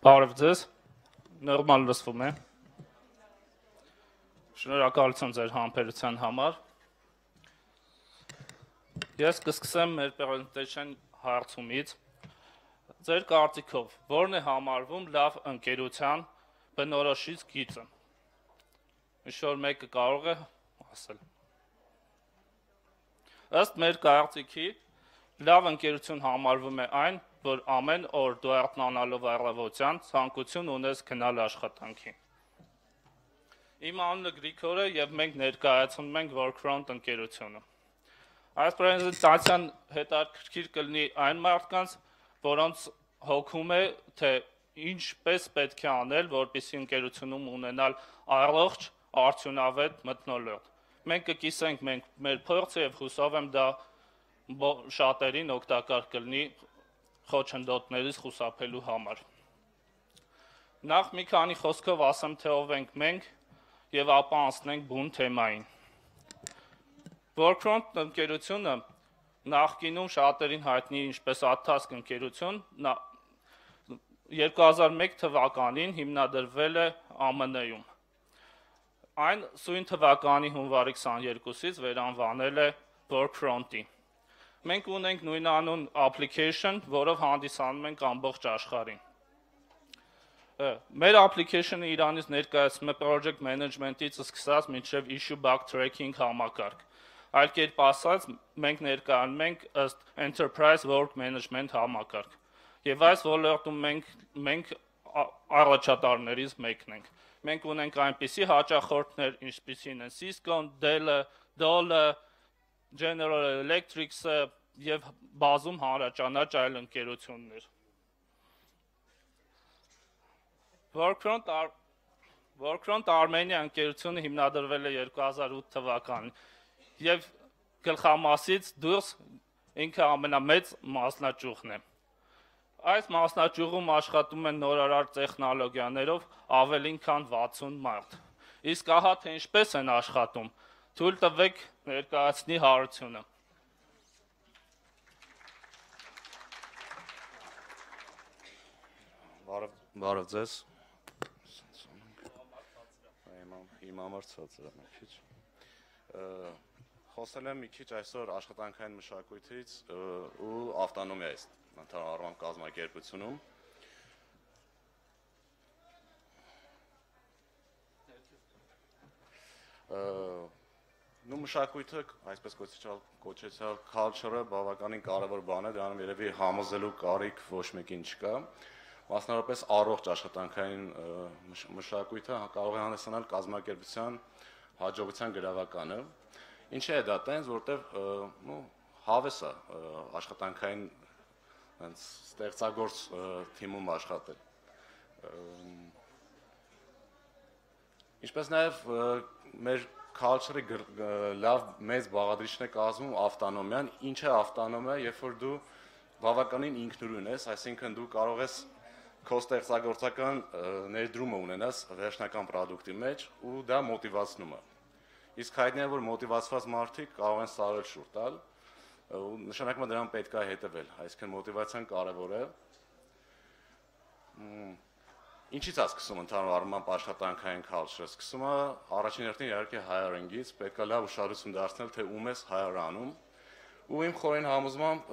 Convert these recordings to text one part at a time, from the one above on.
Բարև ձեզ, նորմալ լսվում է։ Շնորհակալություն ձեր համբերության համար։ Ես կսկսեմ մեր presentation հարցումից։ Ձեր կարծիքով, որն է համարվում լավ ընկերության բնորոշիչ գիծը։ Ինչ-որ մեկը կարող է ասել։ Ըստ մեր կարծիքի, լավ ընկերություն համարվում է այն, որ ամեն օր դու արթնանալով առավոտյան ցանկություն ունես գնալ աշխատանքի։ Իմ անունը Գրիգոր է եւ մենք ներկայացնում ենք Workfront ընկերությունը։ Այս պրեզենտացիան հետաքրքիր կլինի այն մարդկանց, որոնց հոգում է, թե ինչպես պետք է անել, որպեսզի ընկերությունում ունենալ առողջ, արդյունավետ մթնոլորտ։ Մենք կկիսենք մեր փորձը եւ հուսով եմ դա շատերին օգտակար կլինի խոչընդոտներից խուսափելու համար։ Նախ մի քանի խոսքով ասեմ, թե ով ենք մենք եւ ապա անցնենք բուն թեմային։ Workfront ընկերությունը նախկինում շատերին հայտնի ինչպես Adtask ընկերություն 2001 թվականին հիմնադրվել է ԱՄՆ-ում։ Այն սույն թվականի հունվարի 22-ից վերանվանել է Workfront-ի։ Մենք ունենք նույնանուն application, որով հանդիսանում ենք ամբողջ աշխարհին։ Մեր application-ը Իրանից ներկայացնում է project management-ից սկսած մինչև issue bug tracking համակարգ։ Այլ կերպ ասած, մենք ներկայանում ենք ըստ enterprise work management համակարգ։ Եվ այս ոլորտում մենք առաջատարներից մեկն ենք։ Մենք ունենք այնպիսի հաճախորդներ, ինչպիսին են Cisco-ն, Dell-ը, Dole-ը, General Electric-ը եւ բազում հանրաճանաչ այլ ընկերություններ։ Workfront Armenia ընկերությունը հիմնադրվել է 2008 թվականին եւ գլխամասից դուրս ինքը ամենամեծ մասնաճյուղն է։ Այս մասնաճյուղում աշխատում են նորարար տեխնոլոգիաներով ավելին քան 60 մարդ։ Իսկ ահա թե ինչպես են աշխատում, թույլ տվեք ներկայացնի հարությունը։ Բարև ձեզ։ Իմ համար ցածր է մի քիչ։ Խոսել եմ մի քիչ այսօր աշխատանքային մշակույթից ու ավտոնոմիայից ընդհանրապես կազմակերպությունում։ Նու մշակույթը, այսպես կոչեցյալ culture-ը բավականին կարևոր բան է, դրանում երևի համոզելու կարիք ոչ մեկին չկա։ Մասնավորապես առողջ աշխատանքային մշակույթը կարող է հանդիսանալ կազմակերպության հաջողության գրավականը։ Ինչի է դա տենց, որտեղ հավես է աշխատանքային ստեղծագործ թիմում աշխատել։ Ինչպես նաև մեր culture-ի լավ մեծ բաղադրիչն է կազմում ավտոնոմիան։ Ինչ է ավտոնոմիա, երբ որ դու բավականին ինքնուրույն ես, այսինքն դու կարող ես քո ստեղծագործական ներդրումը ունենաս վերջնական product-ի մեջ ու դա մոտիվացնում է։ Իսկ հայտնի է, որ մոտիվացված մարդիկ կարող են սարել շուտ տալ ու նշանակում է դրան պետք է հետևել, այսինքն մոտիվացիան կարևոր է։ Ինչից է սկսում ընդհանուր առմամբ աշխատանքային culture-ը։ Սկսում է առաջին հերթին իհարկե hiring-ից, պետք է լավ ուշադրություն դարձնել, թե ում ես hire անում։ Ու իմ խորին համոզմամբ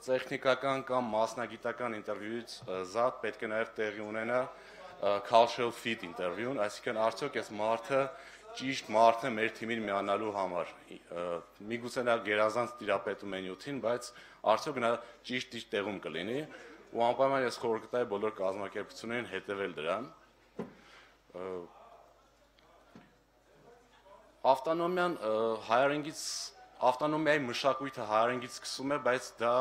տեխնիկական կամ մասնագիտական ինտերվյուից զատ պետք է նաև տեղի ունենա cultural fit ինտերվյուն, այսինքն արդյոք այս մարդը ճիշտ մարդն է մեր թիմին միանալու համար։ Միգուցե նա գերազանց տիրապետում է նյութին, բայց արդյոք նա ճիշտ տեղում կլինի, ու անպայման ես խորհուրդ կտայի բոլոր կազմակերպություններին հետևել դրան։ Ավտոնոմիան hiring-ից Ավտոնոմիայի մշակույթը hiring-ից սկսում է, բայց դա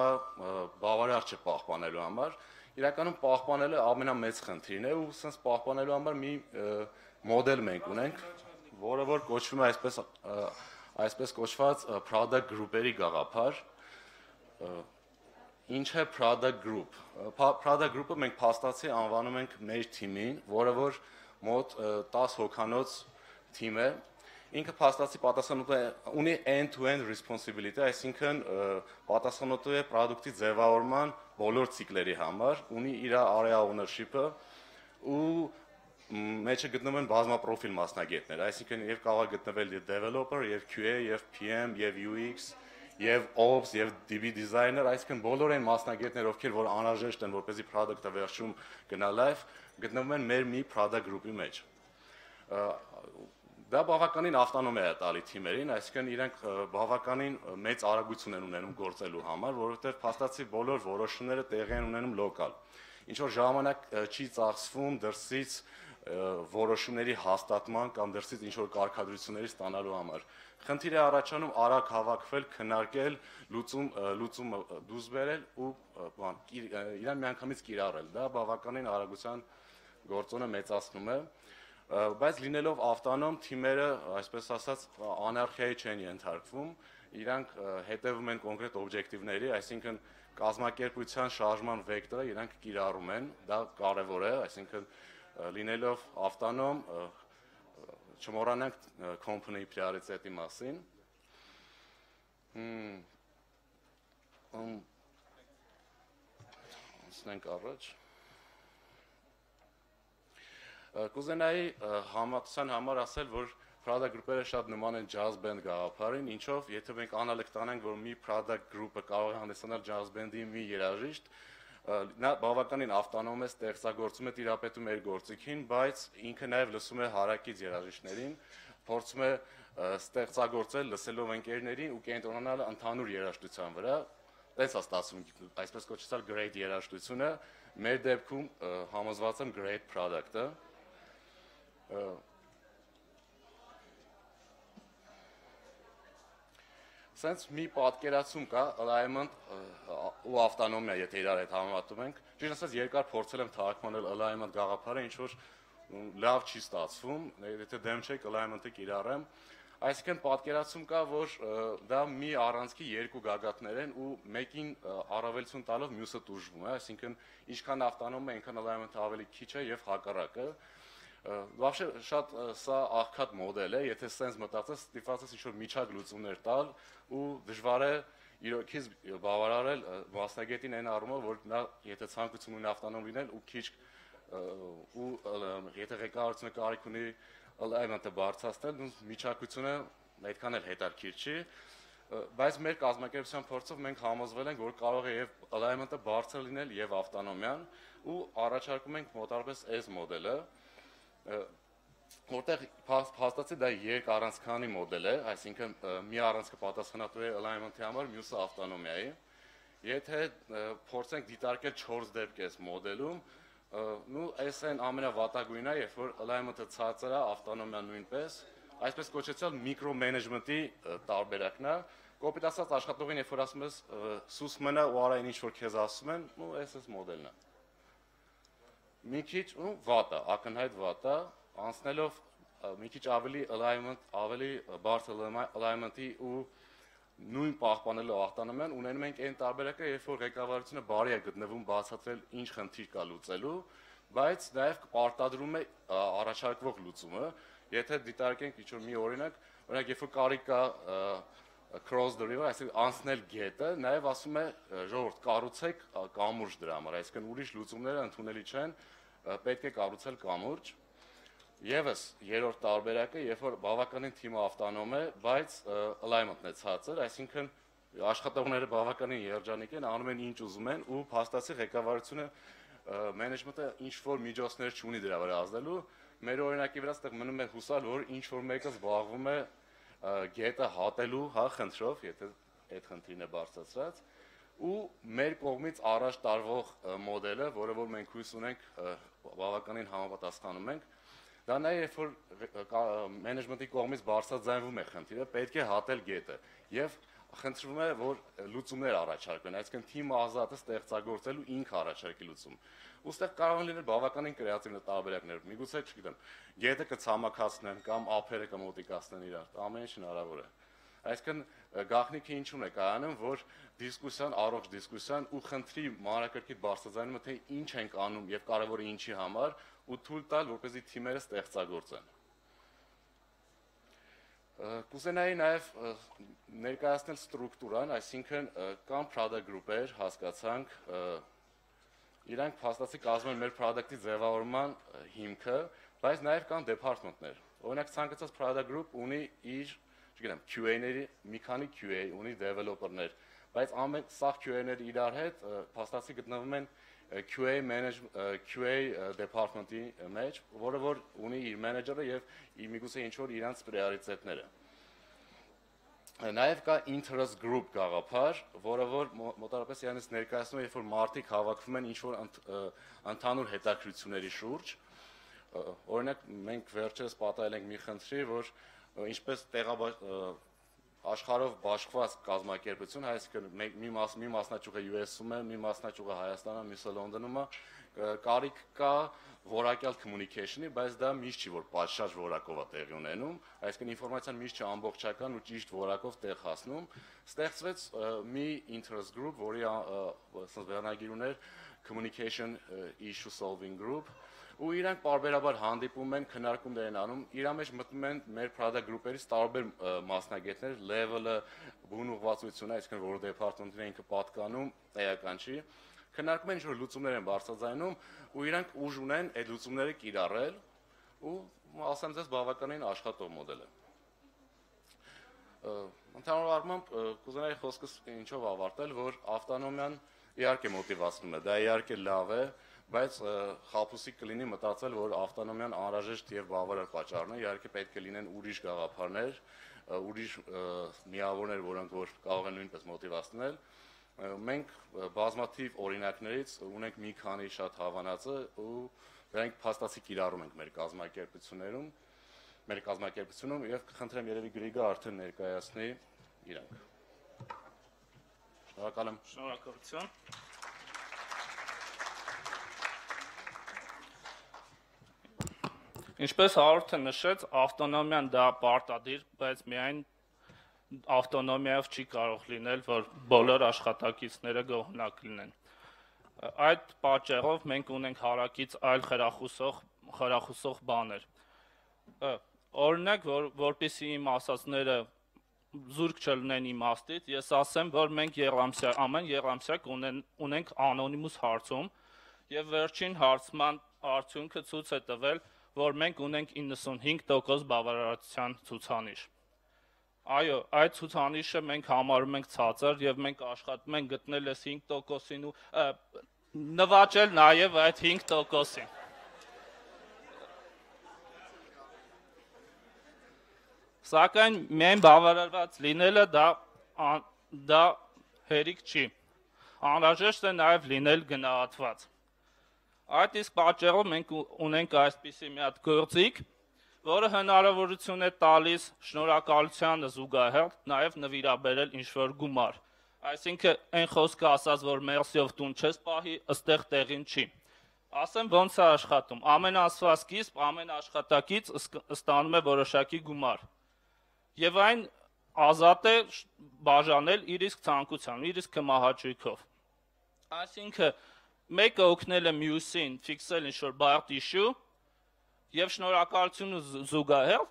բավարար չէ պահպանելու համար։ Իրականում պահպանելը ամենամեծ խնդիրն է ու sense պահպանելու համար մի մոդել մենք ունենք, որը որ կոչվում է այսպես կոչված product group-երի գաղափար։ Ինչ է product group։ Product group-ը մենք փաստացի անվանում ենք մեր թիմին, որը որ մոտ 10 հոգանոց թիմ է։ Ինքը փաստացի պատասխանատու է, ունի end-to-end responsibility, այսինքն պատասխանատու է product-ի ձևավորման բոլոր ցիկլերի համար, ունի իր area ownership-ը, ու մեջը գտնվում են բազմապրոֆիլ մասնագետներ, այսինքն եւ կարող է գտնվել եւ developer, եւ QA, եւ PM, եւ UX, եւ Ops, եւ DB designer, այսինքն բոլոր այն մասնագետներ, ովքեր որ անհրաժեշտ են, որպեսզի product-ը վերջում գնա live, գտնվում են մեր մի product group-ի մեջ։ Դա բավականին ավտոնոմիա է տալի թիմերին, այսինքն իրենք բավականին մեծ արագություն են ունենում գործելու համար, որովհետեւ փաստացի բոլոր որոշումները տեղի են ունենում լոկալ։ Ինչ որ ժամանակ չի ծախսվում դրսից որոշումների հաստատման կամ դրսից ինչ որ կարգադրությունների ստանալու համար։ Խնդիր է առաջանում արագ հավաքվել, քննարկել, լուծումը դուրս բերել ու իրան միանգամից կիրառել։ Դա բավականին արագության գործոնը մեծացնում է, բայց լինելով ավտոնոմ թիմերը, այսպես ասած, անարխիայի չեն ենթարկվում, իրանք հետևում են կոնկրետ օբյեկտիվների, այսինքն կազմակերպության շարժման վեկտորը իրանք կիրառում են, դա կարևոր է, այսինքն լինելով ավտոնոմ չմոռանանք company priority-ի մասին։ Անցնենք առաջ։ Կուզենայի համակցության համար ասել, որ product group-երը շատ նման են jazz band գաղափարին, ինչով եթե մենք անալոգ տանենք, որ մի product group-ը կարող է հանդիսանալ jazz band-ի մի երաժիշտ, նա բավականին ավտոնոմ է, ստեղծագործում է, տիրապետում իր գործիքին, բայց ինքը նաև լսում է հարակից երաժիշտներին, փորձում է ստեղծագործել լսելով ընկերներին ու կենտրոնանալ ընդհանուր երաժշտության վրա, տենց է ստացվում, այսպես կոչեցած great երաժշտությունը, մեր դեպքում համոզված եմ great product-ը։ Սենց մի պատկերացում կա, alignment ու ավտոնոմիա, եթե իրար հետ համեմատում ենք, ճիշտ ասած երկար փորձել եմ թարգմանել alignment գաղափարը, ինչ որ լավ չի ստացվում, եթե դեմ չեք alignment-ը կիրառեմ, այսինքն պատկերացում կա, որ դա մի առանցքի երկու գագաթներ են ու մեկին առավելություն տալով մյուսը տուժվում է, այսինքն ինչքան ավտոնոմ է, այնքան alignment-ը ավելի քիչ է եւ հակառակը։ Вообще շատ սա աղքատ մոդել է, եթե սենց մտածես, ստիպված ինչ-որ միջակ լուծումներ տալ ու դժվար է իրոքից բավարարել մասնագետին այն առումով, որ նա եթե ցանկություն ունի ավտոնոմ լինել ու քիչ ու եթե ղեկավարությունը կարիք ունի alignment-ը բարձրացնել, միջակությունը այդքան էլ հետաքրքիր չի, բայց մեր կազմակերպության փորձով մենք համոզվել ենք, որ կարող է եւ alignment-ը բարձր լինել եւ ավտոնոմիան ու առաջարկում ենք մոտարպես այս մոդելը, որտեղ փաստացի դա երկառանցքանի մոդել է, այսինքն մի առանցքը պատասխանատու է alignment-ի համար, մյուսը ավտոնոմիայի։ Եթե փորձենք դիտարկել 4 դեպք այս մոդելում, այս այն ամենավատագույնն է, երբ որ alignment-ը ցածր է, ավտոնոմիան նույնպես, այսպես կոչեցած միկրոմենեջմենտի տարբերակն է, կոպիտ ասած աշխատողին երբ որ ասում ես սուս մնա ու արա ինչ որ քեզ ասում են, այս մոդելն է։ Մի քիչ վատ է, ակնհայտ վատ է, անցնելով մի քիչ ավելի alignment, ավելի բարձր alignment-ի ու նույն պահպանելով ավտոնոմիան, ունենում ենք այն տարբերակը, երբ որ ղեկավարությունը բարի է գտնվում բացատրել ինչ խնդիր կա լուծելու, բայց նաև պարտադրում է առաջարկվող լուծումը, եթե դիտարկենք ինչ-որ մի օրինակ, երբ որ կարիք կա cross the river, այսինքն անցնել գետը, նաև ասում է ժողովուրդ կառուցեք կամուրջ դրա համար, այսինքն ուրիշ լուծումները ընդունելի չեն, պետք է կառուցել կամուրջ։ Եվս երրորդ տարբերակը, երբ որ բավականին թիմը ավտոնոմ է, բայց alignment-ն է ցածր, այսինքն աշխատողները բավականին երջանիկ են, անում են ինչ ուզում են ու փաստացի ղեկավարությունը management-ը ինչ որ միջոցներ չունի դրա վրա ազդելու, մեր օրինակի վրա այդտեղ մնում է հուսալ, որ ինչ որ մեկը զբաղվում է գետը հատելու, խնդրով, եթե այդ խնդիրն է բարձրացրած, ու մեր կողմից առաջ տարվող մոդելը, որը որ մենք հույս ունենք բավականին համապատասխանում ենք, դա նա երբ որ մենեջմենտի կողմից բարձրաձայնվում է խնդիրը, պետք է հատել գետը եւ խնդրվում է, որ լուծումներ առաջարկվեն, այսինքն թիմը ազատ է ստեղծագործելու ինքը առաջարկի լուծում։ Ոստեղ կարող են լինել բավականին կրեատիվ տարբերակներ, միգուցե, չգիտեմ, գետը կցամաքացնեն կամ ափերը կմոտիկացնեն իրար, ամեն ինչ հնարավոր է։ Այսինքն գաղտնիքը ինչու՞ն է կայանում, որ դիսկուսիան, առողջ դիսկուսիան ու խնդրի մանրակրկիտ բարձրաձայնումը, թե ինչ ենք անում եւ կարեւորը ինչի համար ու թույլ տալ, որպեսզի թիմերը ստեղծագործեն։ Կուզենայի նաև ներկայացնել ստրուկտուրան, այսինքն կամ product group-եր հասկացանք, իրանք փաստացի կազմում են մեր product-ի ձևավորման հիմքը, բայց նաև կան department-ներ։ Օրինակ ցանկացած product group ունի իր, չգիտեմ, QA-ների, մի քանի QA ունի developer-ներ, բայց ամեն սա QA-ները իրար հետ փաստացի գտնվում են QA department-ի մեջ, որը որ ունի իր մենեջերը եւ միգուցե ինչ որ իրանց պրիորիտետները։ Նաև կա interest group գաղափար, որը որ մոտավորապես իրանից ներկայացնում է, երբ որ մարդիկ հավաքվում են ինչ որ ընդհանուր հետաքրքրությունների շուրջ։ Օրինակ մենք վերջերս պատահել ենք մի խնդրի, որ ինչպես աշխարհով բաշխված կազմակերպություն, այսինքն մի մասնաճյուղը US-ում է, մի մասնաճյուղը Հայաստանում, մյուսը Լոնդոնում է, կարիք կա որակյալ communication-ի, բայց դա միշտ չի, որ պատշաճ որակով է տեղի ունենում, այսինքն ինֆորմացիան միշտ չի ամբողջական ու ճիշտ որակով տեղ հասնում։ Ստեղծվեց մի interest group, որի վերնագիր ուներ communication issue solving group, ու իրանք բարբերաբար հանդիպում են, քննարկումներ են անում, իրա մեջ մտնում են մեր product group-երից տարբեր մասնագետներ, level-ը, բուն ուղղվածությունը, այսինքն որ department-ին ինքը պատկանում, էական չի, քննարկում են ինչ-որ լուծումներ են բարձրաձայնում, ու իրանք ուժ ունեն այդ լուծումները կիրառել, ու ասեմ ձեզ բավականին աշխատող մոդել է։ Ընդհանուր առմամբ կուզենայի խոսքս ինչով ավարտել, որ ավտոնոմիան իհարկե մոտիվացնում է, դա իհարկե լավ է, բայց խաբուսիկ կլինի մտածել, որ ավտոնոմիան անհրաժեշտ եւ բավարար պատճառն է, իհարկե պետք է լինեն ուրիշ գաղափարներ, ուրիշ միավորներ, որոնք որ կարող են նույնպես մոտիվացնել։ Մենք բազմաթիվ օրինակներից ունենք մի քանի շատ հավանածը ու դրանք փաստացի կիրառում ենք մեր կազմակերպությունում եւ կխնդրեմ երևի Գրիգը արդեն ներկայացնի իրանք։ Շնորհակալ եմ։ Շնորհակալություն։ Ինչպես հարորդը նշեց, ավտոնոմիան դա պարտադիր, բայց միայն ավտոնոմիայով չի կարող լինել, որ բոլոր աշխատակիցները գոհնակ լինեն։ Այդ պատճառով մենք ունենք հարակից այլ խրախուսող բաներ։ Օրինակ, որպեսզի իմ ասածները զուրկ չլինեն իմաստից, ես ասեմ, որ մենք ամեն եռամսյակ ունենք անոնիմուս հարցում, եւ վերջին հարցման արդյունքը ցույց է տվել, որ մենք ունենք 95% բավարարության ցուցանիշ։ Այո, այդ ցուցանիշը մենք համարում ենք ցածր եւ մենք աշխատում ենք գտնել այս 5%-ին ու նվաճել նաեւ այդ 5%-ին։ Սակայն միայն բավարարված լինելը դա հերիք չի։ Անհրաժեշտ է նաեւ լինել գնահատված։ Այդ իսկ պատճառով մենք ունենք այսպիսի մի հատ գործիք, որը հնարավորություն է տալիս շնորհակալությանը զուգահեռ նաև նվիրաբերել ինչ-որ գումար։ Այսինքն այն խոսքը ասած, որ մերսիով տուն չես պահի, ըստեղ տեղին չի։ Ասեմ ոնց է աշխատում։ Ամեն ամսվա սկիզբ ամեն աշխատակից ստանում է որոշակի գումար։ Եվ այն ազատ է բաժանել իր իսկ ցանկությամբ, իր իսկ կմահաճույքով։ Այսինքն մեկը օգնել է մյուսին ֆիքսել ինչ-որ բարդ issue եւ շնորհակալությունը զուգահեռ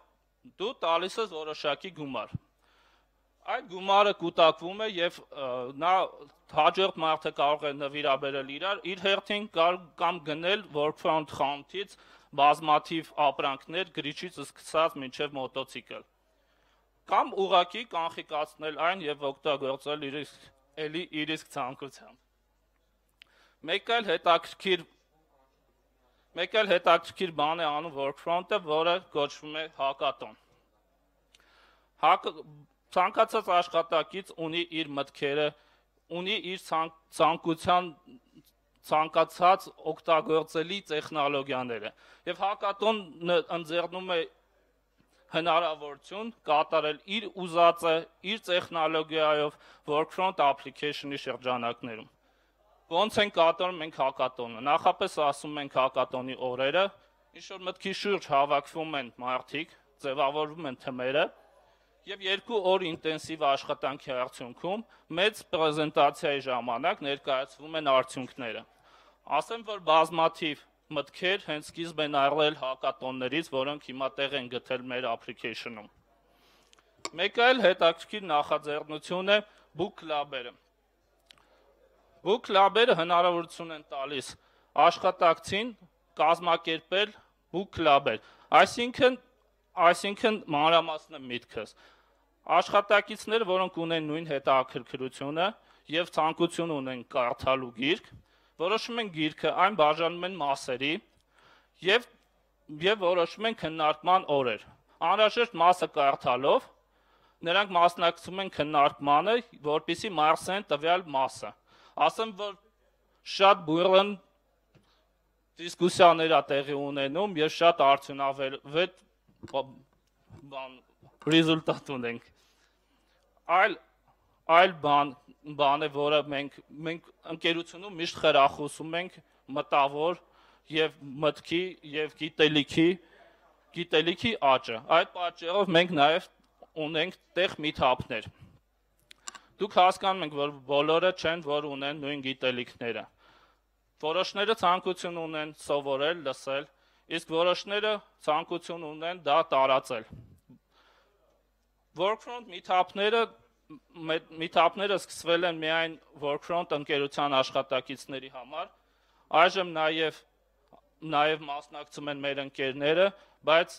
դու տալիս ես որոշակի գումար։ Այդ գումարը կուտակվում է եւ նա հաջորդ մարդը կարող է նվիրաբերել իր հերթին կամ գնել workfront խանութից բազմաթիվ ապրանքներ գրիչից սկսած մինչեւ մոտոցիկլ։ Կամ ուղղակի կանխիկացնել այն եւ օգտագործել իր իսկ ցանկությամբ։ Մեկ այլ հետաքրքիր բան է անում workfront-ը, որը կոչվում է հակատոն։ Ցանկացած աշխատակից ունի իր մտքերը, ունի իր ցանկացած օգտագործելի տեխնոլոգիաները, եւ հակատոնը ընձեռնում է հնարավորություն կատարել իր ուզածը, իր տեխնոլոգիայով workfront application-ի շրջանակներում։ Ոնց են կատարում մենք հակատոնը։ Նախապես ասում ենք հակատոնի օրերը, ինչ որ մտքի շուրջ հավաքվում են մարդիկ, ձևավորվում են թմերը եւ 2 օր ինտենսիվ աշխատանքի արդյունքում մեծ պրեզենտացիայի ժամանակ ներկայացվում են արդյունքները։ Ասեմ, որ բազմաթիվ մտքեր հենց սկիզբ են առել հակատոններից, որոնք հիմա տեղ են գտել մեր application-ում։ Մեկ այլ հետաքրքիր նախաձեռնություն է Book Club-երը։ Book Club-երը հնարավորություն են տալիս աշխատակցին կազմակերպել ու կլաբել։ Այսինքն մանրամասն է միտքս։ Աշխատակիցները, որոնք ունեն նույն հետաքրքրությունը եւ ցանկություն ունեն կարդալու գիրք, որոշում են գիրքը, այն բաժանում են մասերի եւ որոշում են քննարկման օրեր։ Անհրաժեշտ մասը կարդալով նրանք մասնակցում են քննարկմանը, որպեսզի մարսեն տվյալ մասը։ Ասեմ, որ շատ բուրըն դիսկուսիաներ է տեղի ունենում եւ շատ արդյունավետ ռեզուլտատ ունենք։ Այլ բան է, որը մենք ընկերությունում միշտ խրախուսում ենք մտավոր եւ մտքի եւ գիտելիքի աճը։ Այդ պատճառով մենք նաեւ ունենք տեղ meet-up-ներ։ Դուք հասկանում եք, որ բոլորը չեն, որ ունեն նույն գիտելիքները։ Որոշները ցանկություն ունեն սովորել, լսել, իսկ որոշները ցանկություն ունեն դա տարածել։ Workfront meet-up-ները սկսվել են միայն Workfront ընկերության աշխատակիցների համար, այժմ նաև մասնակցում են մեր ընկերները, բայց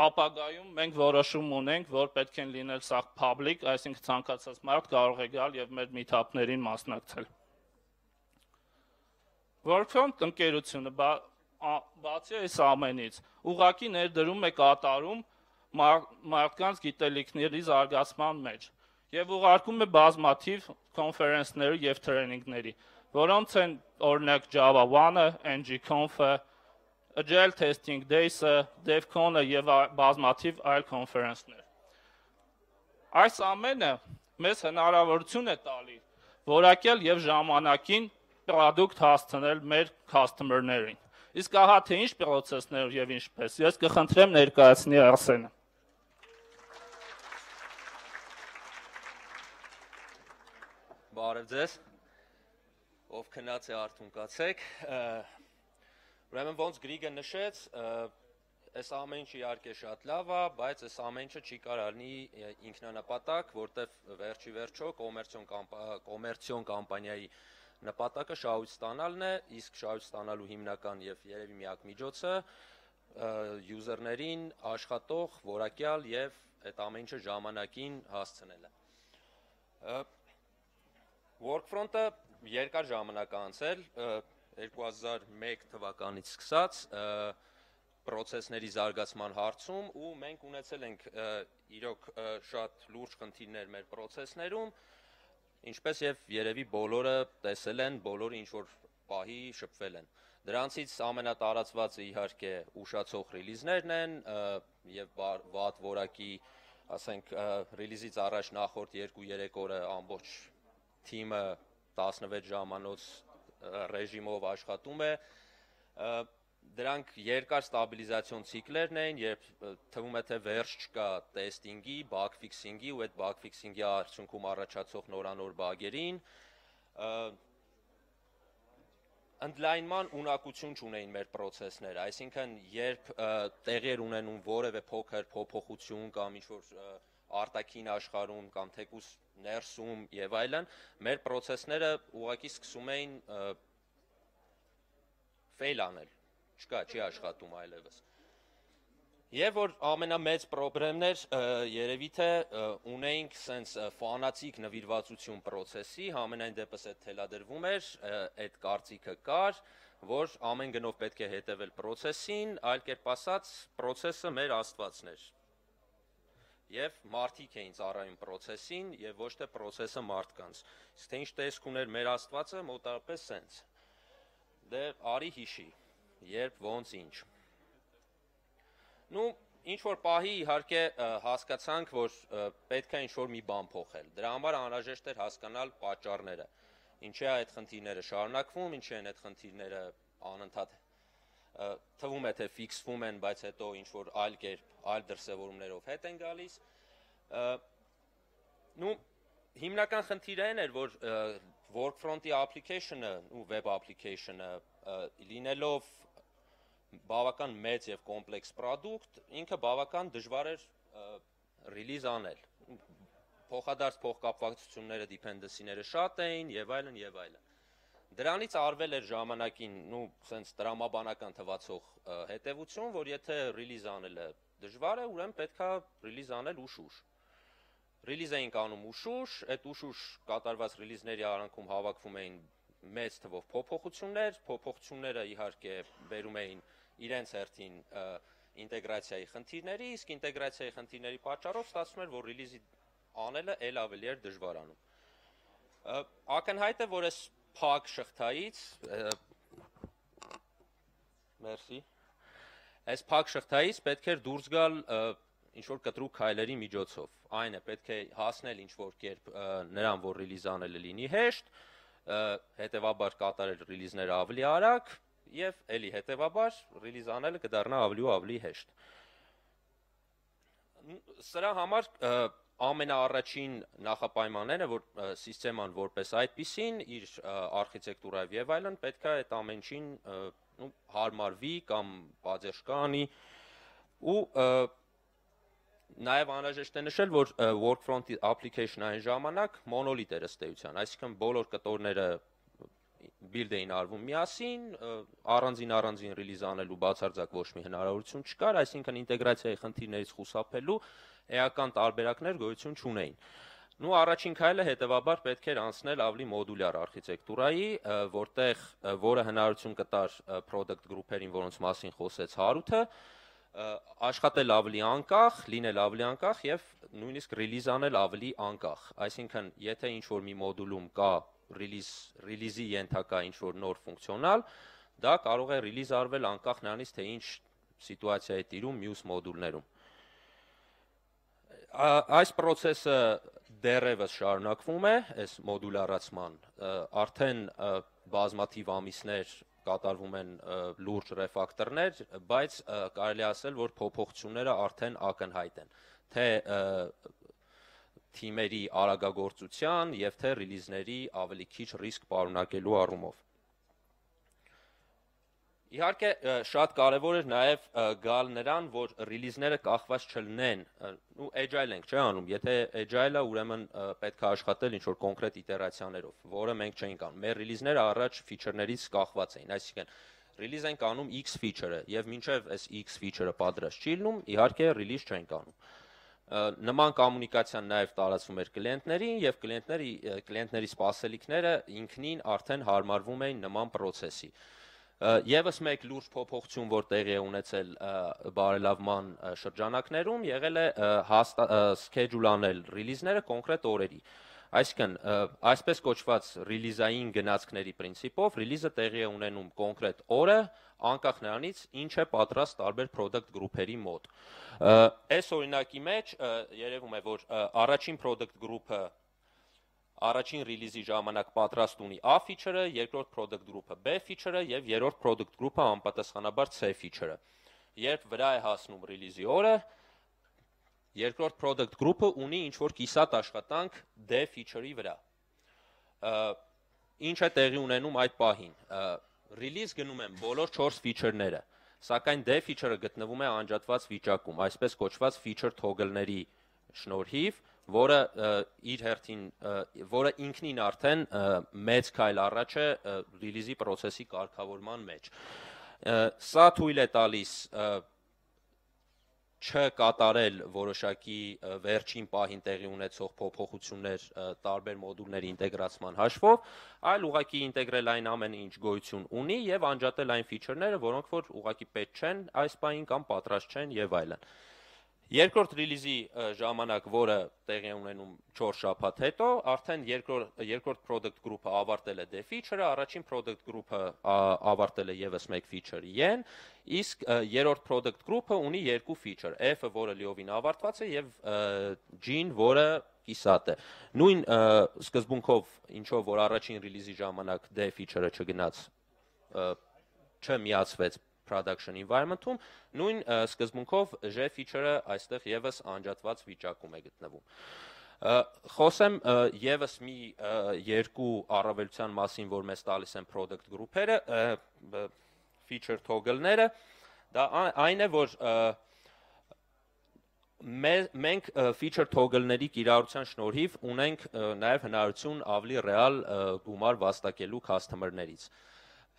ապագայում մենք որոշում ունենք, որ պետք է լինել սա public, այսինքն ցանկացած մարդ կարող է գալ եւ մեր meet-up-ներին մասնակցել։ Workfront ընկերությունը բացի այս ամենից ուղղակի ներդրում է կատարում մարդկանց գիտելիքների զարգացման մեջ եւ ուղարկում է բազմաթիվ կոնֆերանսների եւ տրեյնինգների, որոնց են օրինակ Java 1-ը, NG-Conf-ը, Agile Testing Days-ը, DevCon-ը եւ բազմաթիվ այլ կոնֆերանսներ։ Այս ամենը մեզ հնարավորություն է տալի որակյալ եւ ժամանակին product հասցնել մեր customer-ներին։ Իսկ ահա թե ինչ process-ներ եւ ինչպես, ես կխնդրեմ ներկայացնի Արսենը։ Բարև ձեզ, ով քնած է արթուն կացեք, ուրեմն ոնց Գրիգը նշեց, այս ամեն ինչ իհարկե շատ լավ է, բայց այս ամեն ինչը չի կարող լինի ինքնանպատակ, որտեվ վերջի վերջո կոմերցիոն կամպանիայի նպատակը շահույթ ստանալն է, իսկ շահույթ ստանալու հիմնական եւ երևի միակ միջոցը յուզերներին աշխատող, որակյալ եւ այդ ամեն ինչը ժամանակին հասցնելը։ Workfront-ը երկար ժամանակ անցել, 2001 թվականից սկսած պրոցեսների զարգացման հարցում ու մենք ունեցել ենք իրոք շատ լուրջ խնդիրներ մեր պրոցեսներում, ինչպես եւ երևի բոլորը տեսել են, բոլորը ինչ որ պահի շփվել են։ Դրանցից ամենատարածվածը իհարկե ուշացող ռիլիզներն են եւ վատ որակի, ասենք ռիլիզից առաջ նախորդ 2-3 օրը ամբողջ թիմը 16 ժամանոց ռեժիմով աշխատում է, դրանք երկար ստաբիլիզացիոն ցիկլերն են, երբ թվում է թե վերջ չկա տեստինգի, բագ ֆիքսինգի ու այդ բագ ֆիքսինգի արդյունքում առաջացող նորանոր բագերին, ընդլայնման ունակություն չունեին մեր պրոցեսները, այսինքն երբ տեղի էր ունենում որևէ փոքր փոփոխություն կամ ինչ-որ արտաքին աշխարհում կամ թեկուզ ներսում եւ այլն, մեր պրոցեսները ուղղակի սկսում էին fail անել, չի աշխատում այլևս։ Եվ որ ամենամեծ պրոբլեմներ երևի թե ունեինք սենց ֆանատիկ նվիրվածություն պրոցեսի, համենայն դեպս այդ թելադրվում էր, այդ կարծիքը կար, որ ամեն գնով պետք է հետևել պրոցեսին, այլ կերպ ասած, պրոցեսը մեր աստվածն էր։ Եվ մարդիկ էին ծառայում պրոցեսին եւ ոչ թե պրոցեսը մարդկանց։ Իսկ թե ինչ տեսք ուներ մեր աստվածը, մոտավորապես սենց։ Դե արի հիշի, երբ ոնց ինչ։ Նու ինչ որ պահի իհարկե հասկացանք, որ պետք է ինչ որ մի բան փոխել։ Դրա համար անհրաժեշտ էր հասկանալ պատճառները։ Ինչի է այդ խնդիրները շարունակվում, ինչի են այդ խնդիրները անընդհատ թվում է թե ֆիքսվում են, բայց հետո ինչ որ այլ կերպ, այլ դրսևորումներով հետ են գալիս։ Նու հիմնական խնդիրը այն էր, որ Workfront-ի application-ը ու web application-ը լինելով բավական մեծ եւ կոմպլեքս product, ինքը բավական դժվար էր release անել։ Փոխադարձ փոխկապվածությունները, dependency-ները շատ էին եւ այլն եւ այլն։ Դրանից արվել էր ժամանակին, սենց տրամաբանական թվացող հետևություն, որ եթե ռիլիզ անելը դժվար է, ուրեմն պետք է ռիլիզ անել ուշ-ուշ։ Ռիլիզ էինք անում ուշ-ուշ, այդ ուշ-ուշ կատարված ռիլիզների արանքում հավաքվում էին մեծ թվով փոփոխությունները իհարկե բերում էին իրենց հերթին ինտեգրացիայի խնդիրների, իսկ ինտեգրացիայի խնդիրների պատճառով ստացվում էր, որ ռիլիզի անելը էլ ավելի էր դժվարանում։ Ակնհայտ է, որ այս փակ շղթայից, այս փակ շղթայից պետք էր դուրս գալ ինչ-որ կտրուկ քայլերի միջոցով։ Այն է, պետք է հասնել ինչ-որ կերպ նրան, որ ռիլիզ անելը լինի հեշտ, հետևաբար կատարել ռիլիզները ավելի արագ, և էլի հետևաբար ռիլիզ անելը կդառնա ավելի ու ավելի հեշտ։ Սրա համար ամենաառաջին նախապայմանները, որ սիստեման որպես այդպիսին, իր արխիտեկտուրայով և այլն, պետք է այդ ամենին հարմարվի կամ պատերժ կանի, ու նաև անհրաժեշտ է նշել, որ Workfront application այն ժամանակ մոնոլիթ էր ըստ էության, այսինքն բոլոր կտորները բիլդ էին արվում միասին, առանձին ռիլիզ անելու բացարձակ ոչ մի հնարավորություն չկար, այսինքն ինտեգրացիայի խնդիրներից խուսափելու էական տարբերակներ գոյություն չունեին։ Առաջին քայլը հետևաբար պետք էր անցնել ավելի մոդուլյար արխիտեկտուրայի, որը հնարավորություն կտար product group-երին, որոնց մասին խոսեց Հարութը, աշխատել ավելի անկախ, լինել ավելի անկախ և նույնիսկ ռիլիզ անել ավելի անկախ։ Այսինքն, եթե ինչ-որ մի մոդուլում կա ռիլիզի ենթակա ինչ-որ նոր ֆունկցիոնալ, դա կարող է ռիլիզ արվել անկախ նրանից, թե ինչ սիտուացիա է տիրում մյուս մոդուլներում։ Այս պրոցեսը դեռևս շարունակվում է, այս մոդուլարացման, արդեն բազմաթիվ ամիսներ կատարվում են լուրջ ռեֆակտորներ, բայց կարելի ասել, որ փոփոխությունները արդեն ակնհայտ են, թե թիմերի արագագործության և թե ռիլիզների ավելի քիչ ռիսկ պարունակելու առումով։ Իհարկե, շատ կարևոր էր նաև գալ նրան, որ ռիլիզները կախված չլինեն, agile ենք չէ անում, եթե agile-ը ուրեմն պետք է աշխատել ինչ-որ կոնկրետ իտերացիաներով, որը մենք չենք անում, մեր ռիլիզները առաջ ֆիչերներից կախված էին, այսինքն ռիլիզ ենք անում X ֆիչերը, և մինչև այս X ֆիչերը պատրաստ չի լինում, իհարկե ռիլիզ չենք անում։ Նման կոմունիկացիան նաև տարածվում էր կլիենտներին, և կլիենտների սպասելիքները ինքնին արդեն հարմարվում էին նման պրոցեսի։ Եվս մեկ լուրջ փոփոխություն, որ տեղի է ունեցել բարելավման շրջանակներում, եղել է schedule անել ռիլիզները կոնկրետ օրերի։ Այսինքն, այսպես կոչված ռիլիզային գնացքների պրինցիպով, ռիլիզը տեղի է ունենում կոնկրետ օրը, անկախ նրանից, ինչ է պատրաստ տարբեր product group-երի մոտ։ Այս օրինակի մեջ երևում է, որ առաջին product group-ը առաջին ռիլիզի ժամանակ պատրաստ ունի A ֆիչերը, երկրորդ product group-ը B ֆիչերը և երրորդ product group-ը անպատասխանաբար C ֆիչերը։ Երբ վրա է հասնում ռիլիզի օրը, երկրորդ product group-ը ունի ինչ-որ կիսատ աշխատանք D ֆիչերի վրա։ Ինչ է տեղի ունենում այդ պահին։ Ռիլիզ գնում են բոլոր 4 ֆիչերները, սակայն D ֆիչերը գտնվում է անջատված վիճակում, այսպես կոչված feature toggle-ների շնորհիվ, որը ինքնին արդեն մեծ քայլ առաջ է ռիլիզի պրոցեսի կարգավորման մեջ։ Սա թույլ է տալիս չկատարել որոշակի վերջին պահին տեղի ունեցող փոփոխություններ տարբեր մոդուլների ինտեգրացման հաշվով, այլ ուղղակի ինտեգրել այն ամենը, ինչ գոյություն ունի և անջատել այն ֆիչերները, որոնք որ ուղղակի պետք չեն այս պահին կամ պատրաստ չեն և այլն։ Երկրորդ ռիլիզի ժամանակ, որը տեղի է ունենում 4 շաբաթ հետո, արդեն երկրորդ product group-ը ավարտել է D feature-ը, առաջին product group-ը ավարտել է ևս մեկ feature Y-ն, իսկ երրորդ product group-ը ունի 2 feature, F-ը, որը լիովին ավարտված է, և G-ն, որը կիսատ է։ Նույն սկզբունքով, ինչով որ առաջին ռիլիզի ժամանակ D feature-ը չգնաց, չմիացվեց production environment-ում, նույն սկզբունքով G feature-ը այստեղ ևս անջատված վիճակում է գտնվում։ Խոսեմ ևս մի երկու առավելության մասին, որ մեզ տալիս են product group-երը, feature toggle-ները, դա այն է, որ մենք feature toggle-ների կիրառության շնորհիվ ունենք նաև հնարավորություն ավելի ռեալ գումար վաստակելու customer-ներից։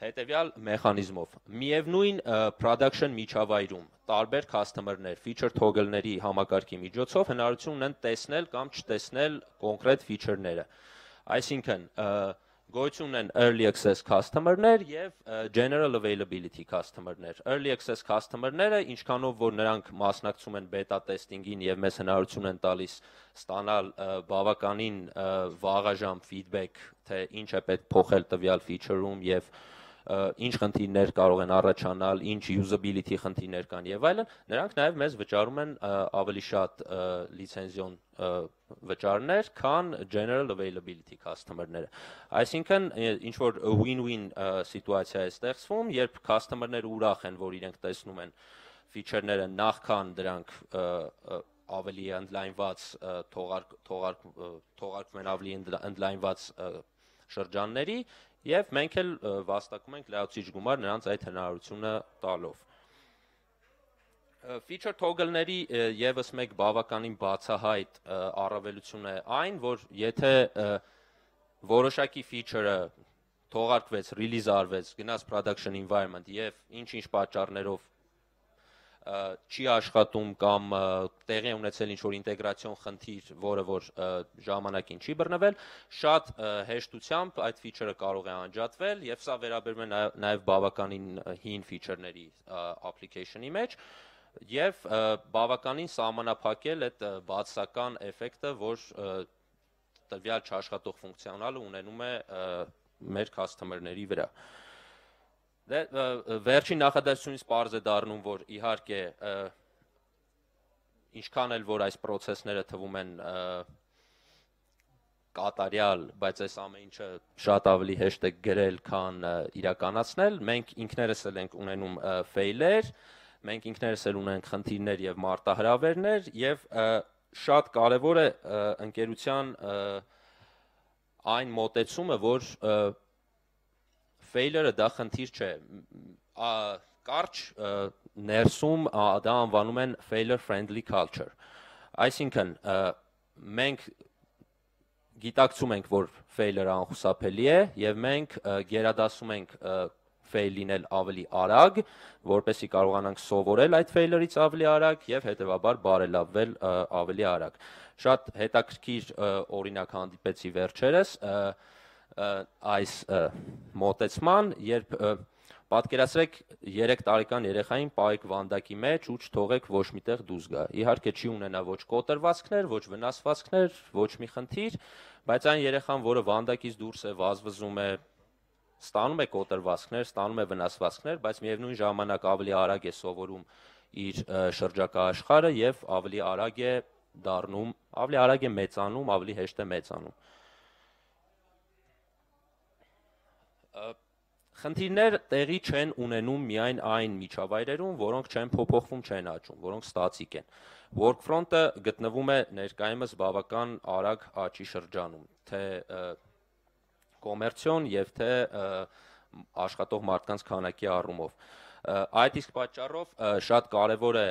Հետևյալ մեխանիզմով։ Միևնույն production միջավայրում տարբեր customer-ներ feature toggle-ների համակարգի միջոցով հնարավորություն ունեն տեսնել կամ չտեսնել կոնկրետ feature-ները։ Այսինքն գոյություն ունեն early access customer-ներ եւ general availability customer-ներ։ Early access customer-ները, ինչքանով որ նրանք մասնակցում են beta testing-ին եւ մեզ հնարավորություն են տալիս ստանալ բավականին վաղաժամ feedback, թե ինչ է պետք փոխել տվյալ feature-ում եւ ինչ խնդիրներ կարող են առաջանալ, ինչ usability խնդիրներ կան եւ այլն, նրանք նաեւ մեզ վճարում են ավելի շատ լիցենզիոն վճարներ, քան general availability customer-ները։ Այսինքն, ինչ որ win-win սիտուացիա է ստեղծվում, երբ customer-ները ուրախ են, որ իրենք տեսնում են feature-ները նախքան դրանք ավելի ընդլայնված թողարկվում են ավելի ընդլայնված շրջանների եւ մենք էլ վաստակում ենք լայացուցիչ գումար նրանց այդ հնարավորությունը տալով։ Feature toggle-ների եւս մեկ բավականին բացահայտ առավելություն է այն, որ եթե որոշակի feature-ը թողարկվեց, release արվեց, գնաց production environment եւ ինչ-ինչ պատճառներով չի աշխատում կամ տեղի ունեցել ինչ-որ ինտեգրացիոն խնդիր, որը որ ժամանակին չի բռնվել, շատ հեշտությամբ այդ feature-ը կարող է անջատվել եւ սա վերաբերում է նաեւ բավականին հին feature-ների application-ի մեջ եւ բավականին սահմանափակել այդ բացասական էֆեկտը, որ տվյալ չաշխատող ֆունկցիոնալը ունենում է մեր customer-ների վրա։ Վերջին նախադասությունից պարզ է դառնում, որ իհարկե ինչքան էլ որ այս process-ները թվում են կատարյալ, բայց այս ամեն ինչը շատ ավելի հեշտ է գրել, քան իրականացնել, մենք ինքներս էլ ենք ունենում fail-եր, մենք ինքներս էլ ունենք խնդիրներ եւ մարտահրավերներ եւ շատ կարեւոր է ընկերության այն մոտեցումը, որ failure-ը դա խնդիր չէ, կարճ ներսում դա անվանում են failure friendly culture, այսինքն մենք գիտակցում ենք, որ failure-ը անխուսափելի է եւ մենք գերադասում ենք fail լինել ավելի արագ, որպեսզի կարողանանք սովորել այդ failure-ից ավելի արագ եւ հետեւաբար բարելավվել ավելի արագ։ Շատ հետաքրքիր օրինակ հանդիպեցի վերջերս այս մոտեցման, երբ պատկերացրեք 3 տարեկան երեխային պահեք վանդակի մեջ ու չթողեք ոչ միտեղ դուրս գա։ Իհարկե չի ունենա ոչ կոտրվածքներ, ոչ վնասվածքներ, ոչ մի խնդիր, բայց այն երեխան, որը վանդակից դուրս է, վազվզում է, ստանում է կոտրվածքներ, ստանում է վնասվածքներ, բայց միևնույն ժամանակ ավելի արագ է սովորում իր շրջակա աշխարհը եւ ավելի արագ է դառնում, ավելի արագ է մեծանում, ավելի հեշտ է մեծանում։ Խնդիրներ տեղի չեն ունենում միայն այն միջավայրերում, որոնք չեն փոփոխվում, չեն աճում, որոնք ստատիկ են։ Workfront-ը գտնվում է ներկայումս բավական արագ աճի շրջանում, թե կոմերցիոն եւ թե աշխատող մարդկանց քանակի առումով։ Այդ իսկ պատճառով շատ կարևոր է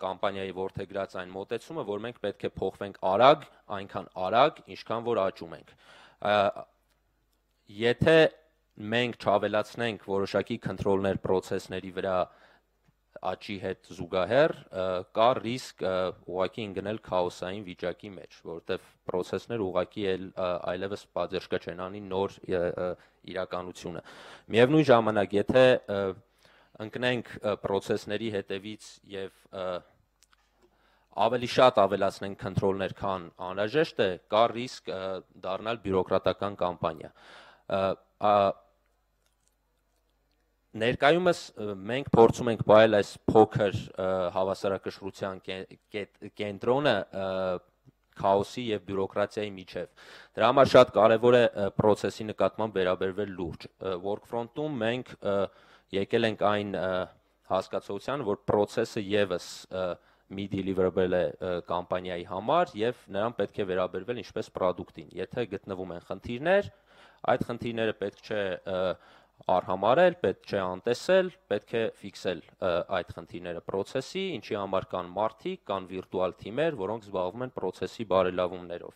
կամպանիայի որդեգրած այն մոտեցումը, որ մենք պետք է փոխվենք արագ, այնքան արագ, ինչքան որ աճում ենք։ Եթե մենք չավելացնենք որոշակի կոնտրոլներ process-ների վրա աճի հետ զուգահեռ, կա ռիսկ ուղղակի ընկնել քաոսային վիճակի մեջ, որովհետև process-ները ուղղակի այլևս պատժկա չեն անի նոր իրականությունը։ Միևնույն ժամանակ, եթե ընկնենք process-ների հետևից եւ ավելի շատ ավելացնենք կոնտրոլներ, քան անհրաժեշտ է, կա ռիսկ դառնալ բյուրոկրատական կամպանիա։ Ներկայումս մենք փորձում ենք բայել այս փոքր հավասարակշռության կենտրոնը քաոսի եւ բյուրոկրատիայի միջև։ Դրա համար շատ կարեւոր է process-ի նկատմամբ վերաբերվել լուրջ։ Workfront-ում մենք եկել ենք այն հասկացության, որ process-ը եւս մի deliverable է կամպանիայի համար եւ նրան պետք է վերաբերվել ինչպես product-ին։ Եթե գտնվում են խնդիրներ, այդ խնդիրները պետք չէ արհամարել, պետք չէ անտեսել, պետք է ֆիքսել այդ խնդիրները process-ի, ինչի համար կան մարդիկ, կան վիրտուալ թիմեր, որոնք զբաղվում են process-ի բարելավումներով։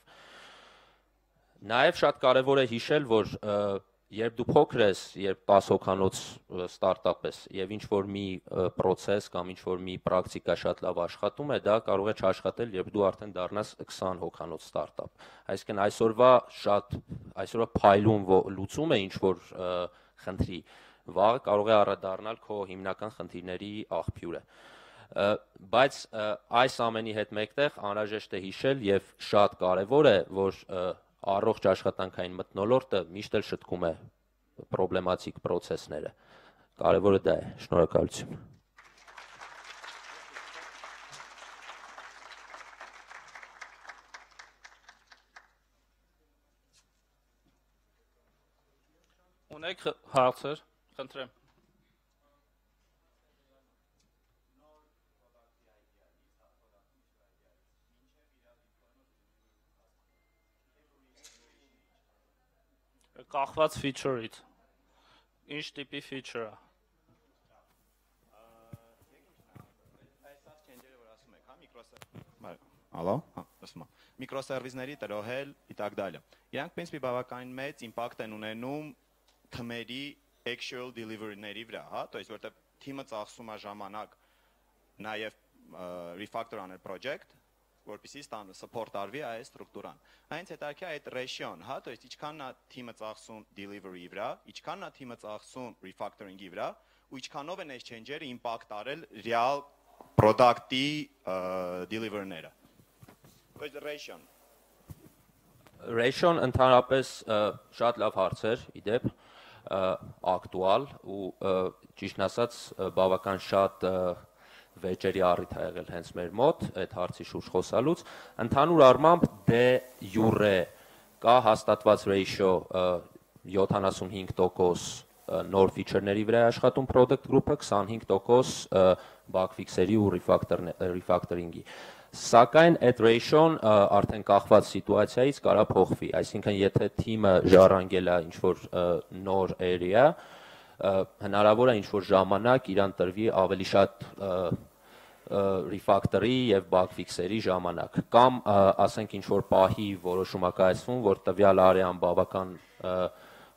Նաև շատ կարևոր է հիշել, որ երբ դու փոքր ես, երբ 10 հոգանոց ստարտափ ես եւ ինչ որ մի process կամ ինչ որ մի պրակտիկա շատ լավ աշխատում է, դա կարող է չաշխատել, երբ դու արդեն դառնաս 20 հոգանոց ստարտափ։ Այսինքն այսօրվա փայլուն լուծումը ինչ որ խնդրի, վաղը կարող է առադառնալ քո հիմնական խնդիրների աղբյուրը։ Բայց այս ամենի հետ մեկտեղ անհրաժեշտ է հիշել եւ շատ կարեւոր է, որ առողջ աշխատանքային մթնոլորտը միշտ էլ շտկում է պրոբլեմատիկ process-ները։ Կարևորը դա է։ Շնորհակալություն։ Ունեք հարցեր, խնդրեմ։ Կախված feature-ից։ Ինչ տիպի feature-ը։ Այս change-երը, որ ասում եք, հա, Ալո, ասում եմ։ Միկրոսերվիսների տրոհել и так далее։ Իրանք принципе բավականին մեծ impact են ունենում թմերի actual delivery-ների վրա, հա, то есть որտեղ թիմը ծախսում է ժամանակ նաև refactor անել project, որպեսզի ստանը support արվի այս ստրուկտուրան։ Այնց հետաքրքիր է այդ ratio-ն, հա, то есть ինչքանն է թիմը ծախսում delivery-ի վրա, ինչքանն է թիմը ծախսում refactoring-ի վրա, ու ինչքանով են այս change-երը impact արել real product-ի delivery-ները։ То есть ratio-ն։ Ratio-ն ընդհանրապես շատ լավ հարց էր, իդեպ ակտուալ ու ճիշտն ասած բավական շատ վեճերի առիթ ա եղել հենց մեր մոտ այդ հարցի շուրջ խոսալուց, ընդհանուր առմամբ դե յուրե կա հաստատված ratio 75% նոր feature-ների վրա աշխատում product group-ը, 25% bug fix-երի ու refactoring-ի։ Սակայն այդ ratio-ն արդեն կախված սիտուացիայից կարա փոխվի, այսինքն եթե թիմը ժառանգել է ինչ-որ նոր area, հնարավոր է ինչ-որ ժամանակ իրան տրվի ավելի շատ refactor-ի եւ bug fix-երի ժամանակ, կամ ասենք ինչ-որ պահի որոշում է կայացվում, որ տվյալ area-ն բավական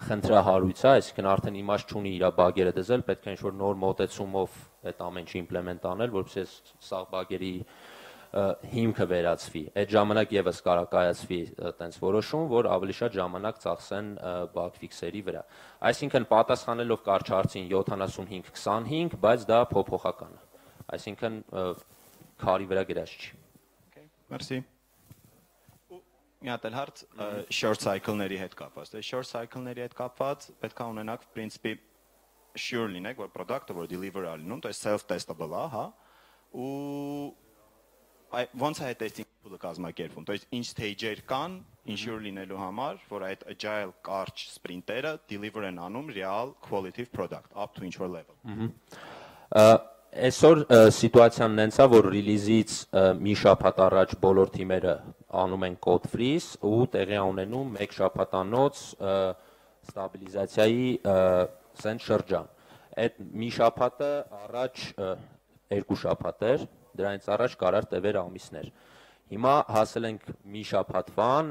խնդրահարույց է, այսինքն արդեն իմաստ չունի իր բագերը դզել, պետք է ինչ-որ նոր մոտեցումով այդ ամեն ինչը իմպլեմենտ անել, որպեսզի սա բագերի հիմքը վերացվի։ Այդ ժամանակ եւս կարա կայացվի տենց որոշում, որ ավելի շատ ժամանակ ծախսեն bug fix-երի վրա։ Այսինքն պատասխանելով կարճ հարցին 75-25, բայց դա փոփոխական է։ Այսինքն քարի վրա գրած չի։ Okay, merci։ Մի հատ էլ հարց short cycle-ների հետ կապված։ Դե short cycle-ների հետ կապված պետք է ունենաք principe sure լինեք, որ product-ը որ deliver-ա լինում, то есть self-testable է, հա, ու ոնց է testing tool-ը կազմակերպվում, то есть ինչ stage-եր կան ensure լինելու համար, որ այդ agile կարճ sprint-երը deliver են անում real quality product up to ինչ-որ level։ Այսօր սիտուացիան նենց է, որ ռիլիզից մի շաբաթ առաջ բոլոր թիմերը անում են code freeze ու տեղի ունենում մեկ շաբաթանոց ստաբիլիզացիայի սենց շրջան։ Այդ մի շաբաթը առաջ երկու շաբաթ էր, դրանից առաջ կարար տևեր ամիսներ։ Հիմա հասել ենք մի շաբաթվան,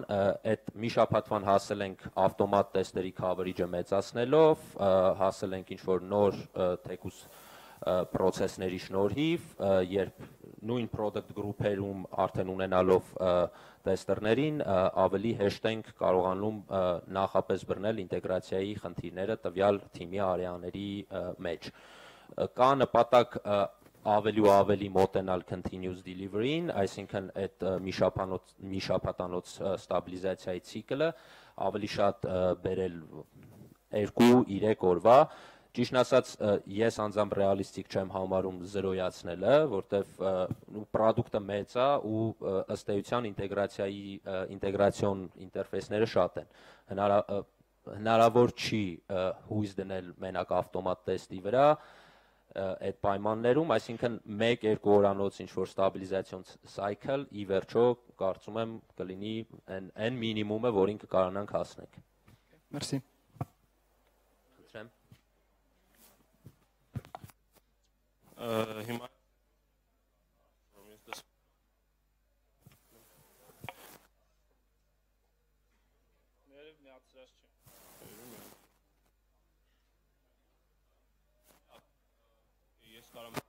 այդ մի շաբաթվան հասել ենք ավտոմատ տեստերի coverage-ը մեծացնելով, հասել ենք ինչ-որ նոր թեկուս process-ների շնորհիվ, երբ նույն product group-երում արդեն ունենալով տեստերներին ավելի հեշտ ենք կարողանում նախապես բռնել ինտեգրացիայի խնդիրները տվյալ թիմի արեաների մեջ։ Կա նպատակ ավելի ու ավելի մոտենալ continuous delivery-ին, այսինքն այդ մի շաբաթանոց ստաբիլիզացիայի ցիկլը ավելի շատ բերել 2-3 օրվա։ Ճիշտն ասած, ես անձամբ ռեալիստիկ չեմ համարում զրոյացնելը, որտեվ պրոդուկտը մեծ է ու ըստ էության ինտեգրացիոն ինտերֆեյսները շատ են։ Հնարավոր չի հույս դնել մենակ ավտոմատ տեստի վրա այդ պայմաններում, այսինքն 1-2 օրանոց ինչ-որ ստաբիլիզացիոն cycle ի վերջո կարծում եմ կլինի այն մինիմումը, որին կկարանանք հասնենք։ Մերսի։ Խնդրեմ։ Հիմա ես կարող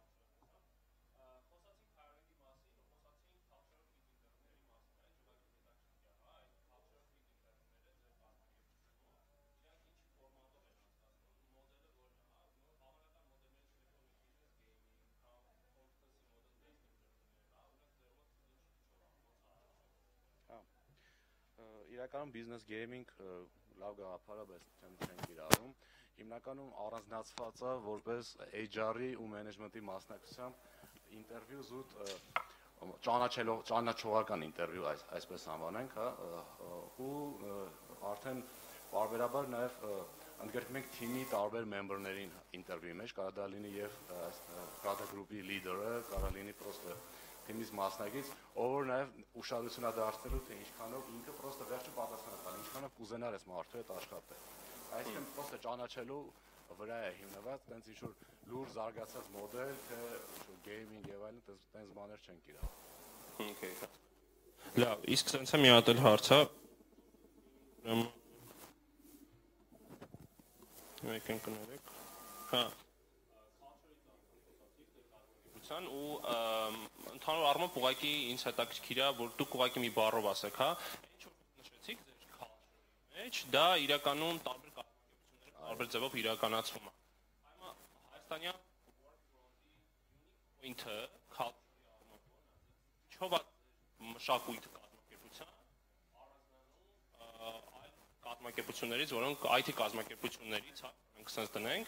Իրականում business gaming լավ գաղափար է, բայց չեմ կիրառում։ Հիմնականում առանձնացված է որպես HR-ի ու մենեջմենտի մասնակցությամբ ինտերվյու զուտ ճանաչողական ինտերվյու այսպես անվանենք, հա, ու արդեն բարբերաբար նաև ընդգրկում ենք թիմի տարբեր մեմբերներին ինտերվյուի մեջ, կարող դա լինի եւ product group-ի լիդերը, կարող լինի պրոստը թիմից մասնակից, ով որ նաև ուշադրություն է դարձնելու, թե ինչքանով ինքը պրոստը վերջը պատասխան տալ, ինչքանով կուզենար այս մարդու հետ աշխատել։ Այսինքն պրոստը ճանաչելու վրա է հիմնված, տենց ինչ-որ լուր զարգացած մոդել, թե գեյմինգ եւ այլն, տենց բաներ չեն կիրառում։ Okay։ Լավ, իսկ սենց է մի հատ էլ հարց է։ Եկենք կներեք։ Հա։ Ու ընդհանուր առմամբ ուղղակի ինձ հետաքրքիր է, որ դուք ուղղակի մի բառով ասեք, հա, ինչ որ նշեցիք ձեր culture-ի մեջ, դա իրականում տարբեր կազմակերպությունների տարբեր ձևով իրականացվում է։ Հիմա հայաստանյան point-ը culture-ի առումով ինչով է մշակույթը կազմակերպության առանձնանում այլ կազմակերպություններից, որոնք IT կազմակերպություններից, հա, մենք sense դնենք,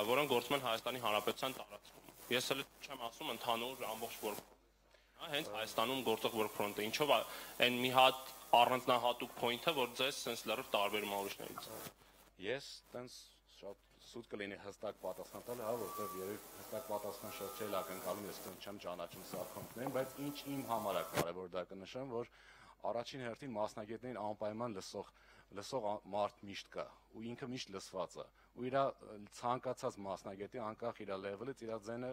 որոնք գործում են Հայաստանի Հանրապետության տարածքում։ Ես էլ չեմ ասում ընդհանուր ամբողջ workflow-ը, հա, հենց Հայաստանում գործող workflow-ը, ինչով է այն մի հատ առանձնահատուկ point-ը, որ ձեզ sense լրիվ տարբերում է ուրիշներից։ Ես տենց շատ սուտ կլինի հստակ պատասխան տալ, հա, որտեղ երբ հստակ պատասխան շատ չէ ակնկալում, ես չեմ ճանաչում սա կոնկրետ, բայց ինչ իմ համար է կարևոր դա կնշեմ, որ առաջին հերթին մասնագետներին անպայման լսող մարդ միշտ կա ու ինքը միշտ լսված է ու իր ցանկացած մասնագետի անկախ իր լեվելից իր ձենը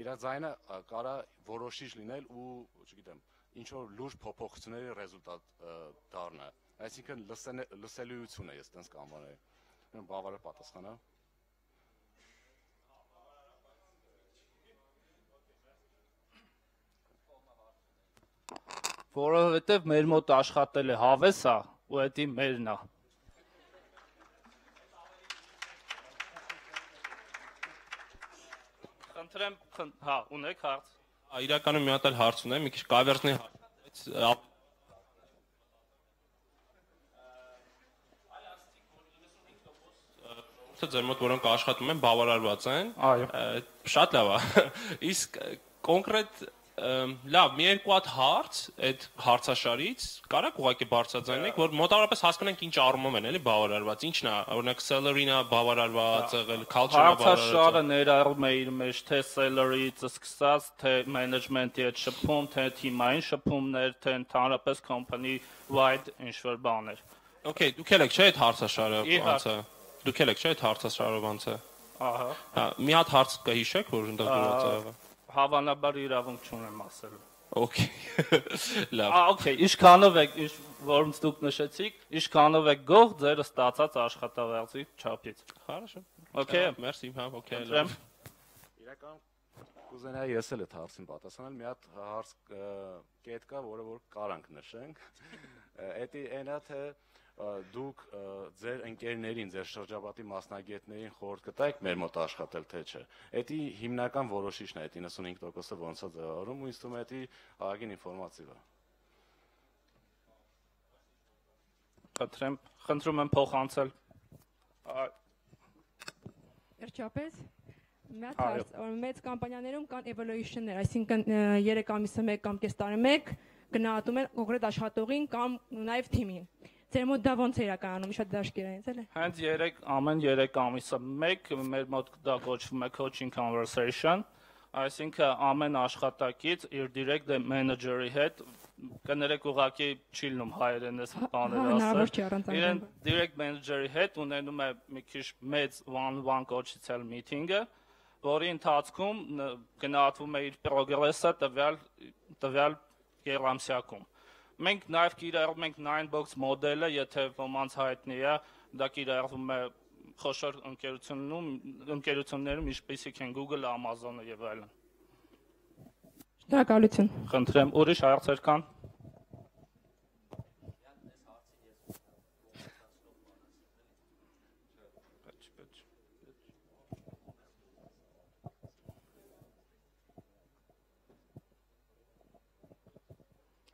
իր ձայնը կարա որոշիչ լինել ու չգիտեմ ինչ որ լուրջ փոփոխությունների ռեզուլտատ դառնա այսինքն լսելիությունը ես տենց կանվանել բավարար պատասխան է Որովհետև մեր մոտ աշխատել է հավեսա ու դա մերն է։ Խնդրեմ, հա, ունեք հարց։ Իրականում մի հատ էլ հարց ունեմ, մի քիչ կավերտների հարց, բայց ձեր մոտ որոնք աշխատում են բավարարված են։ Այո։ Շատ լավ է։ Իսկ կոնկրետ լավ, մի երկու հատ հարց այդ հարցաշարից կարաք ուղղակի բարձրաձայնեք, որ մոտավորապես հասկանանք ինչ առումով են, էլի բավարարված, ինչն է, օրինակ salary-ն է բավարարված, եղել culture-ը բավարարված։ Հարցաշարը ներառում է իր մեջ թե salary-ից սկսած, թե management-ի հետ շփում, թե թիմային շփումներ, թե ընդհանրապես company-wide ինչ-որ բաներ։ Okay, դուք եք չէ՞ այդ հարցաշարը ոնց է։ Դուք եք չէ՞ այդ հարցաշարը ոնց է։ Ահա։ Հա, մի հատ հարց կհիշեք, որ ընդդեմ դուրս է եղել։ Հավանաբար իրավունք չունեմ ասելու։ Okay։ Լավ։ Okay, ինչքանով եք, որոնց դուք նշեցիք, ինչքանով եք գող ձեր ստացած աշխատավարձի չափից։ Хорошо։ Okay, merci, հա, okay։ Իրական կուզենայի ես էլ այդ հարցին պատասխանել, մի հատ հարց կետ կա, որը որ կարանք նշենք։ Էդի այնա թե դուք ձեր ընկերներին, ձեր շրջապատի մասնագետներին խորհուրդ կտայիք մեր մոտ աշխատել թե չէ։ Էդի հիմնական որոշիչն է, այդ 95%-ը ոնց է ձևավորում ու ինձ թվում է էդի ահագին ինֆորմատիվ է։ Խնդրում եմ փոխանցել։ Վերջապես մեծ հարց, մեծ կամպանիաներում կան evaluation-ներ, այսինքն 3 ամիսը 1 կամ կես տարի 1 գնահատում են կոնկրետ աշխատողին կամ նաև թիմին։ Ձեր մոտ դա ոնց է իրականանում, շատ դաշկեր է, էլի։ Հենց ամեն 3 ամիսը 1 մեր մոտ դա կոչվում է coaching conversation, այսինքն ամեն աշխատակից իր direct manager-ի հետ կներեք ուղղակի չի լինում հայերեն այս բաները հնարավոր չի առանց իրեն direct manager-ի հետ ունենում է մի քիչ մեծ one-on-one կոչեցել meeting-ը, որի ընթացքում գնահատվում է իր progress-ը տվյալ երամսյակում։ Մենք նաև կիրառում ենք 9box մոդելը, եթե ոմանց հայտնի է, դա կիրառվում է խոշոր ընկերություններում, ինչպիսիք են Google, Amazon-ը եւ այլն։ Շնորհակալություն։ Խնդրեմ, ուրիշ հարցեր կան։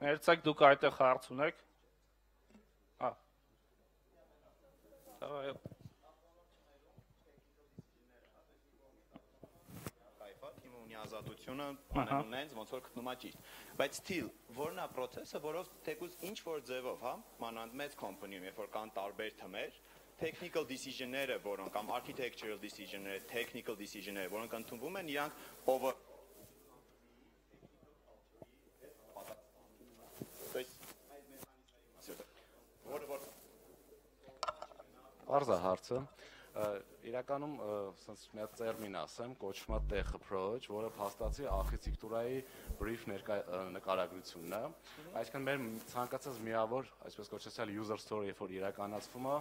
Երցեք դուք այդտեղ հարց ունեք։ Թիմը ունի ազատությունը, անենց ոնց որ գտնում է ճիշտ։ Բայց still, որն է process-ը, որով թեկուզ ինչ որ ձևով, հա, մանավանդ մեծ company-ում, երբ որ կան տարբեր թմեր, technical decision-ները, որոնք կամ architectural decision-ները, technical decision-ները, որոնք ընդունվում են, իրանք over Արզա հարցը իրականում ասենց մի հատ տերմին ասեմ, կոչվում է tech approach, որը փաստացի architecture-ի brief նկարագրությունն է։ Այսինքն մեր ցանկացած միավոր, այսպես կոչեցյալ user story, երբ որ իրականացվում է,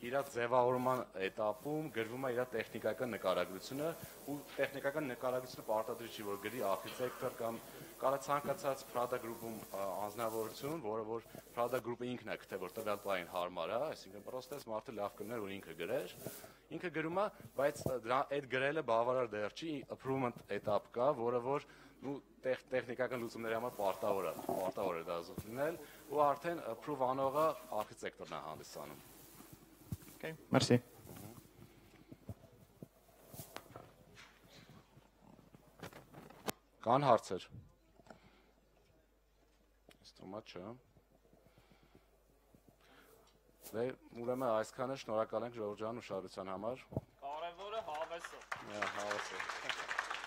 իր ձևավորման этаպում գրվում է իր տեխնիկական նկարագրությունը, ու տեխնիկական նկարագրությունը պարտադիր չի, որ գրի architecture կամ կարա ցանկացած product group-ում անձնավորություն, որը որ product group-ը ինքն է գտե, որ տվյալ պահին հարմար է, այսինքն պրոստես մարդը լավ կներ, որ ինքը գրեր, ինքը գրում է, բայց դրա այդ գրելը բավարար դեռ չի, improvement этап կա, որը որ տեխնիկական լուծումների համար պարտավոր է դա զուգնել, ու արդեն approve անողը architecture-ն է հանդիսանում։ Okay, merci. Կան հարցեր։ Ստոմա չէ։ Դե ուրեմն այսքանը շնորհակալ ենք Ժորժան ուշադրության համար։ Կարևորը հավեսը։ Հավեսը։